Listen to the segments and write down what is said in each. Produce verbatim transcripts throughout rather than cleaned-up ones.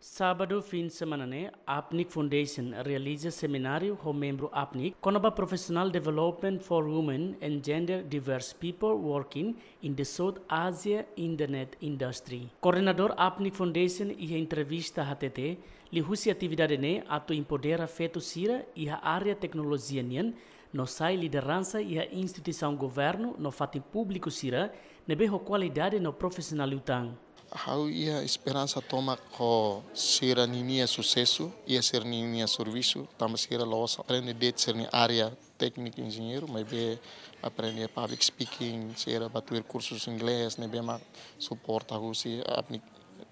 Sábadu fin semana ne'e, APNIC Foundation realiza semináriu ho membru APNIC kona-ba Professional Development for Women and Gender Diverse People Working in the South Asia Internet Industry. Koordenadór APNIC Foundation iha entrevista hatete, liuhusi atividade ne'e atu empodera feto sira iha área teknolojia nian, no sai lideransa iha instituisaun governu no fatin públiku sira ne'ebé ho kualidade no profisionál liután. Ha'u iha esperansa tomak ho sira ninia susesu iha sira ninia servisu, tanba sira la'ós aprende de'it sira-nia área tékniku enjeñeiru, maibé aprende public speaking, sira bá tuir kursus inglés, ne'ebé mak suporta husi APNIC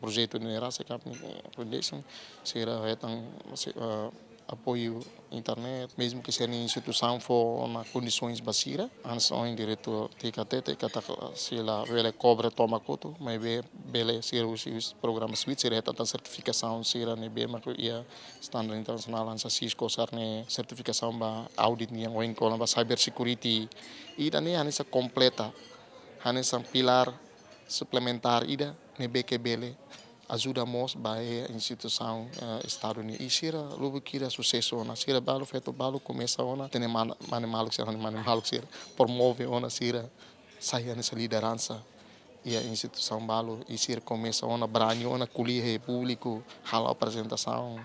projetu ne'e rasik, APNIC Foundation, sira hetan, si-, eh, apoiu internet, mezmu ke sira-nia instituisaun fó ona kondisoens ba sira, hanesan ohin diretór Tika hatete katak sira labele kobra tomak hotu, maibé bele sira husi programa switch, sira hetan tan sertifikasaun sira ne'ebé mak iha standar internasionál, hanesan Cisco sira-nia sertifikasaun ba audit nian, ohin kona-ba cyber security. Ida-ne'e hanesan kompleta, hanesan pilár suplementár ida ne'ebé ke bele ajuda mós ba iha instituisaun, eh, Estadu nian. I sira lubuk hira susesu ona, sira balu, feto balu komesa ona, hatene mane-, mane maluk sira, mane maluk sira promove ona, sira sai hanesan lideransa iha instituisaun balu, i sira komesa ona brani ona ko'alia ho públiku, halo aprezentasaun,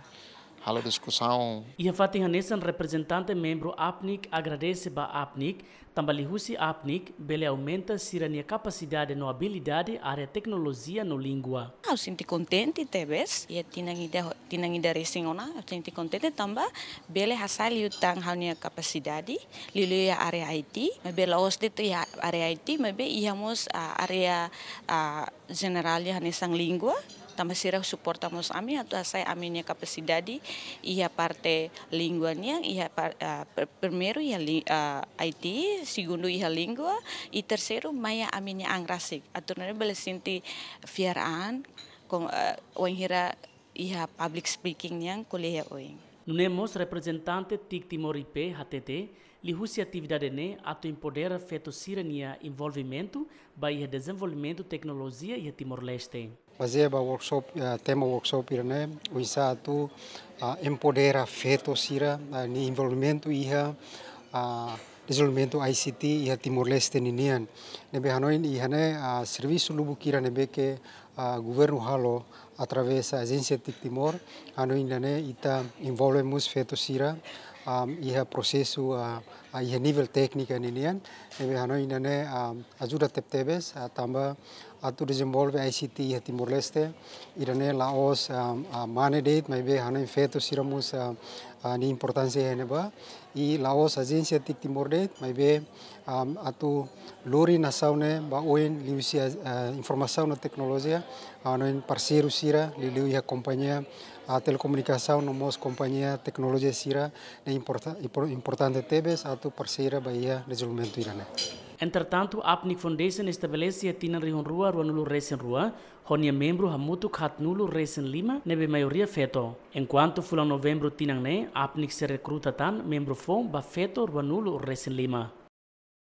halo diskusaun. Iha fatin hanesan, reprezentante membru APNIC agradese ba APNIC, tanba liuhusi APNIC bele aumenta sira-nia kapasidade no abilidade área teknolojia no língua. Ha'u sente kontente tebes, iha tinan ida, tinan ida resin ona, ha'u sente kontente tanba bele hasa'e liután ha'u-nia kapasidade, liuliu iha área I T, maibé la'ós de'it iha área I T, maibé iha mós, ah, área, ah, jenerál iha hanesan língua, tanba sira suporta mós ami atu hasa'e ami-nia kapasidade iha parte língua nian, iha par-, ah, pr-, primeiru iha li-, ah, I T, segundu iha língua, i terseiru mai iha ami-nia an rasik. Atu nune'e bele sente fiar an, kon, ah, wainhira iha public speaking nian ko'alia oin. Nune'e mós reprezentante TIC Timor I P hatete, liuhusi atividade ne'e atu empodera feto sira-nia envolvimentu ba iha dezenvolvimentu teknolojia iha Timor-Leste. Bazeia ba workshop, eh, tema workshop ida-ne'e, oinsá atu, ah, empodera feto sira, ah, nia envolvimentu iha, ah, dezenvolvimentu I C T iha Timor-Leste ninian. Ne'ebé hanoin iha ne'e, ah, servisu lubuk hira ne'ebé ke, ah, governu halo através ajénsia TIC Timor, hanoin ida-ne'e ita envolve mós feto sira, ah, iha prosesu, ah, ah, iha nivel téknika ninian, ne'ebé hanoin ida-ne'e, ah, ajuda tebetebes, ah, tanba atu dezenvolve I C T iha Timor-Leste, ida-ne'e la'ós, ah, ah, mane de'it, maibé hanoin feto sira mós, ah, ah, nia importánsia iha ne'ebá, i la'ós ajénsia TIC Timor de'it, maibé, ah, atu lori nasaun ne'e ba oin liuhusi, ah, informasaun no teknolojia, hanoin parseiru sira, liuliu iha kompañia, ah, telekomunikasaun no mós kompañia teknolojia sira, ne'e importa-, impor-, importante tebes atu parseira ba iha dezenvolvimentu ida-ne'e. Entretantu, APNIC Foundation estabelese iha tinan rihun rua ruanulu resin rua, ho nia membru hamutuk haatnulu resin lima, ne'ebé maioria feto. Enkuantu fulan Novembru tinan ne'e, APNIC sei rekruta tan membru foun ba feto ruanulu resin lima.